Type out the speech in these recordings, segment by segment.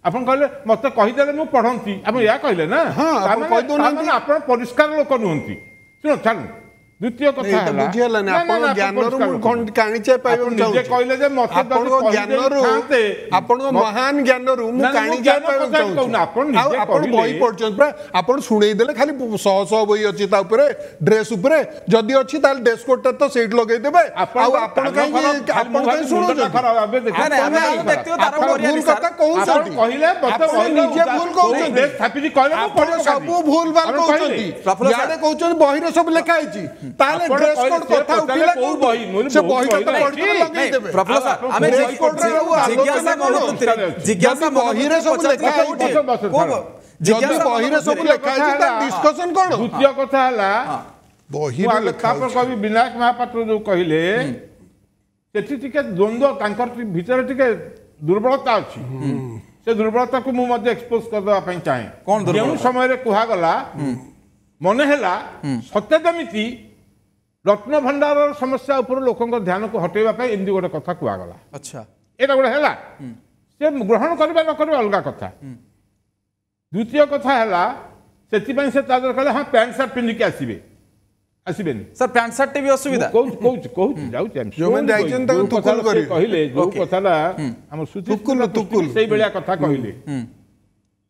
ଆପଣ କହିଲେ ମତେ କହିଦେଲେ ମୁଁ ପଢନ୍ତି, ଆପଣ ଏହା କହିଲେ ନା? ମାନେ ଆପଣ ପରିଷ୍କାର ଲୋକ ନୁହନ୍ତି। ଶୁଣ, ଛାଡ଼ନ୍ତୁ। ଦ୍ୱିତୀୟ କଥା ହେଲା, ବୁଝିହେଲାନି ଆପଣ ଜ୍ଞାନରୁ ମୁଁ କାଣିଚେ ପାଇବାକୁ ନିଜେ କହିଲେ ଯେ ମତେ ଆପଣଙ୍କ ଜ୍ଞାନରୁ, ଆପଣଙ୍କ ମହାନ ଜ୍ଞାନରୁ ମୁଁ କାଣିଚେ ପାଇବାକୁ ଚାହୁଁଛି। ଆପଣ ଆପଣ ବହି ପଢୁଛନ୍ତି ପୁରା, ଆପଣ ଶୁଣେଇ ଦେଲେ ଖାଲି ଶହ ଶହ ବହି ଅଛି ତା ଉପରେ, ଡ୍ରେସ୍ ଉପରେ। ଯଦି ଅଛି ତାହେଲେ ଡ୍ରେସ୍ କୋଡଟା ତ ସେଇଠି ଲଗେଇଦେବେ। ଆଉ ଆପଣ କାହିଁକି, ଆପଣ କାହିଁ ଶୁଣୁଛନ୍ତି? ଆପଣ ଭୁଲ କଥା କହୁଛନ୍ତି, କହିଲେ ଆପଣ ନିଜେ ଭୁଲ କହୁଛନ୍ତି, ଆପଣ ସବୁ ଭୁଲ ଭାଲ କହୁଛନ୍ତି। ଇଆଡ଼େ କହୁଛନ୍ତି ବହିରେ ସବୁ ଲେଖା ହେଇଛି, ତାହେଲେ ଡ୍ରେସ୍ କୋଡ୍ କଥା ଉଠିଲା କୋଉ ବହି? ସେ ବହିଟା ତ ପଢିକି ଲଗେଇଦେବେ। ପ୍ରଫୁଲ୍ଲ ସାର୍, ଆମେ ଡ୍ରେସ୍ କୋଡ୍ ଜିଜ୍ଞାସା ମନୋବୃତ୍ତିରେ, ଜିଜ୍ଞାସା ବହିରେ ସବୁ ଲେଖା ହେଇଛି, ଯଦି ବହିରେ ସବୁ ଲେଖା ହେଇଛି ତାହେଲେ ଡିସ୍କସନ କଣ? ଦ୍ୱିତୀୟ କଥା ହେଲା ବହିରେ ଲେଖା। ତାପରେ କହିବି, ବିନାୟକ ମହାପାତ୍ର ଯୋଉ କହିଲେ ସେଠି ଟିକେ ଦ୍ୱନ୍ଦ୍ୱ, ତାଙ୍କର ଭିତରେ ଟିକେ ଦୁର୍ବଳତା ଅଛି। ସେ ଦୁର୍ବଳତାକୁ ମୁଁ ମଧ୍ୟ ଏକ୍ସପୋଜ କରିଦେବା ପାଇଁ ଚାହେଁ। ଯେଉଁ ସମୟରେ କୁହାଗଲା, ମନେ ହେଲା ସତେ ଯେମିତି ରତ୍ନଭଣ୍ଡାରର ସମସ୍ୟା ଉପରୁ ଲୋକଙ୍କ ଧ୍ୟାନକୁ ହଟେଇବା ପାଇଁ ଏମିତି ଗୋଟେ କଥା କୁହାଗଲା। ଆଚ୍ଛା, ଏଇଟା ଗୋଟେ ହେଲା, ସେ ଗ୍ରହଣ କରିବା ନ କରିବା ଅଲଗା କଥା। ଦ୍ୱିତୀୟ କଥା ହେଲା, ସେଥିପାଇଁ ସେ ତା ଦେହରେ କହିଲେ ହଁ ପ୍ୟାଣ୍ଟ ସାର୍ଟ ପିନ୍ଧିକି ଆସିବେ। ଆସିବେନି ସାର୍, ପ୍ୟାଣ୍ଟ ସାର୍ଟ ବି ଅସୁବିଧା। କହୁଛି କହୁଛି କହୁଛି ଯାଉଛି। ଯୋଉମାନେ ଯାଇଛନ୍ତି ତାଙ୍କୁ ତୁକୁଲ କରିବେ କହିଲେ, ଯୋଉ କଥାଟା ଆମ ସୁଚିସ୍ମିତା ସେଇଭଳିଆ କଥା କହିଲେ,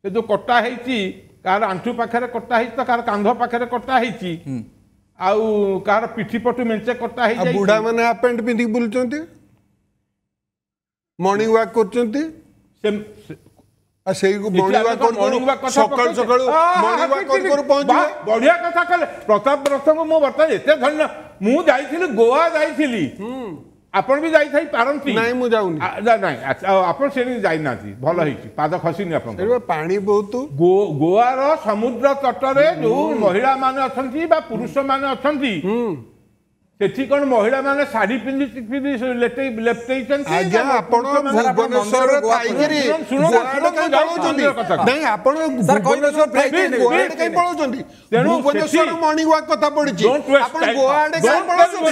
ସେ ଯୋଉ କଟା ହେଇଛି, କାହାର ଆଣ୍ଠୁ ପାଖରେ କଟା ହେଇଛି ତ କାହାର କାନ୍ଧ ପାଖରେ କଟା ହେଇଛି, ଆଉ କାହାର ପିଠି ପଟୁ ମେଞ୍ଚେ କଟା ହେଇଯାଇଛି। ବୁଢା ମାନେ ହାଫ ପ୍ୟାଣ୍ଟ ପିନ୍ଧିକି ବୁଲୁଛନ୍ତି, ମର୍ଣ୍ଣିଂ ୱାକ୍ କରୁଛନ୍ତି। ସେ ସେଇ ମର୍ଣ୍ଣିଂ ୱାକ୍ କରୁ ସକାଳୁ ସକାଳୁ ମର୍ଣ୍ଣିଂ ୱାକ୍ କରୁ କରୁ ପହଞ୍ଚିବେ। ବଢିଆ କଥା କହିଲେ ପ୍ରତାପ ରଥଙ୍କୁ। ମୁଁ ବର୍ତ୍ତମାନ ଏତେ ଧନ୍ୟ। ମୁଁ ଯାଇଥିଲି, ଗୋଆ ଯାଇଥିଲି, ଆପଣ ବି ଯାଇଥାଇ ପାରନ୍ତି। ନାଇଁ, ମୁଁ ଯାଉନି। ନାଇଁ, ଆପଣ ସେଠି ଯାଇନାହାନ୍ତି, ଭଲ ହେଇଛି, ପାଦ ଖସିନି ଆପଣଙ୍କ। ପାଣି ବହୁତ। ଗୋଆର ସମୁଦ୍ର ତଟରେ ଯୋଉ ମହିଳା ମାନେ ଅଛନ୍ତି ବା ପୁରୁଷ ମାନେ ଅଛନ୍ତି, ସେଠି କଣ ମହିଳା ମାନେ ଶାଢୀ ପିନ୍ଧି ପିନ୍ଧି ଲେପଟେଇଛନ୍ତି? ଆଜ୍ଞା, ଆପଣ ଭୁବନେଶ୍ୱରରେ ଥାଇକିରି ଗୋଆଡେ କାଇଁ ପଳଉଛନ୍ତି? ନାଇଁ, ଆପଣ ଭୁବନେଶ୍ୱର ଥାଇକିରି ଗୋଆଡେ କାଇଁ ପଳଉଛନ୍ତି? ଭୁବନେଶ୍ୱର ମର୍ଣ୍ଣିଂ ୱାକ୍ କଥା ପଡିଛି, ଆପଣ ଗୋଆଡେ କାଇଁ ପଳଉଛନ୍ତି?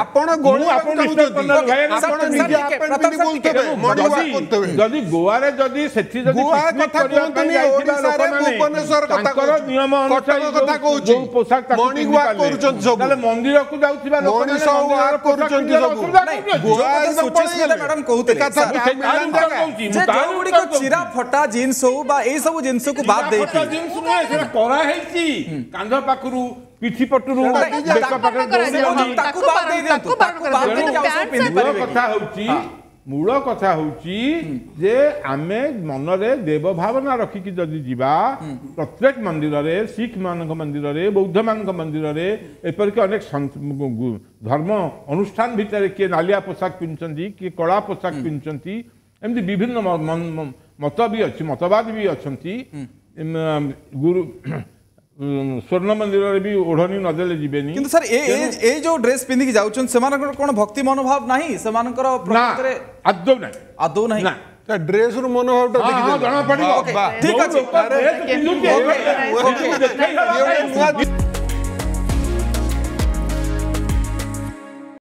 ଆପଣ ଗୋଳିବାକୁ ଚାହୁଁଛନ୍ତି, ଆପଣ ନିଜେ ହାଫ ପ୍ୟାଣ୍ଟ ପିନ୍ଧି ବୁଲୁଥିବେ, ମର୍ଣ୍ଣିଂ ୱାକ୍ କରୁଥିବେ। ଯଦି ଗୋଆରେ, ଯଦି ସେଠି ଯଦି ଗୋଆ କଥା କୁହନ୍ତୁନି, ଓଡ଼ିଶାରେ ଭୁବନେଶ୍ୱର କଥା କହୁଛି, ନିୟମ କଟକ କଥା କହୁଛି, ପୋଷାକ ମର୍ଣ୍ଣିଂ ୱାକ୍ କରୁଛନ୍ତି ସବୁ, ତାହେଲେ ମନ୍ଦିରକୁ ଯାଉଥିବା ମଣିଷ ୱାକ୍ କରୁଛନ୍ତି ସବୁ। ମ୍ୟାଡାମ କହୁଥିଲେ ଯେ ଯୋଉଗୁଡ଼ିକ ଚିରା ଫଟା ଜିନ୍ସ ହଉ ବା ଏଇ ସବୁ ଜିନିଷକୁ ବାଦ ଦେଇକି, ଜିନ୍ସ ନୁହେଁ, ସେଟା କରାହେଇଛି କାନ୍ଧ ପାଖରୁ ପିଠି ପଟରୁ ତାକୁ ବାଦ ଦେଇ ଦିଅନ୍ତୁ, ତାକୁ ବାଦ ଦେଇକି ଆଉ ସବୁ ପିନ୍ଧି ପାରିବେ। କଥା ହଉଛି, ମୂଳ କଥା ହେଉଛି ଯେ ଆମେ ମନରେ ଦେବ ଭାବନା ରଖିକି ଯଦି ଯିବା, ପ୍ରତ୍ୟେକ ମନ୍ଦିରରେ, ଶିଖ ମାନଙ୍କ ମନ୍ଦିରରେ, ବୌଦ୍ଧମାନଙ୍କ ମନ୍ଦିରରେ, ଏପରିକି ଅନେକ ଧର୍ମ ଅନୁଷ୍ଠାନ ଭିତରେ କିଏ ନାଲିଆ ପୋଷାକ ପିନ୍ଧୁଛନ୍ତି, କିଏ କଳା ପୋଷାକ ପିନ୍ଧୁଛନ୍ତି, ଏମିତି ବିଭିନ୍ନ ମତ ବି ଅଛି, ମତବାଦ ବି ଅଛନ୍ତି। ଗୁରୁ ସ୍ୱର୍ଣ୍ଣ ମନ୍ଦିରରେ ବି ଓଢ଼ଣୀ ନଦେଲେ ଯିବେନି। କିନ୍ତୁ ସାର୍, ଏଇ ଯୋଉ ଡ୍ରେସ୍ ପିନ୍ଧିକି ଯାଉଛନ୍ତି ସେମାନଙ୍କର କଣ ଭକ୍ତି ମନୋଭାବ ନାହିଁ ସେମାନଙ୍କର? ପ୍ରକୃତରେ ଆଦୌ ନାହିଁ, ଆଦୌ ନାହିଁ। ନା, ଡ୍ରେସ୍ ରୁ ମନୋଭାବଟା ଜଣା ପଡିବ। ଠିକ ଅଛି।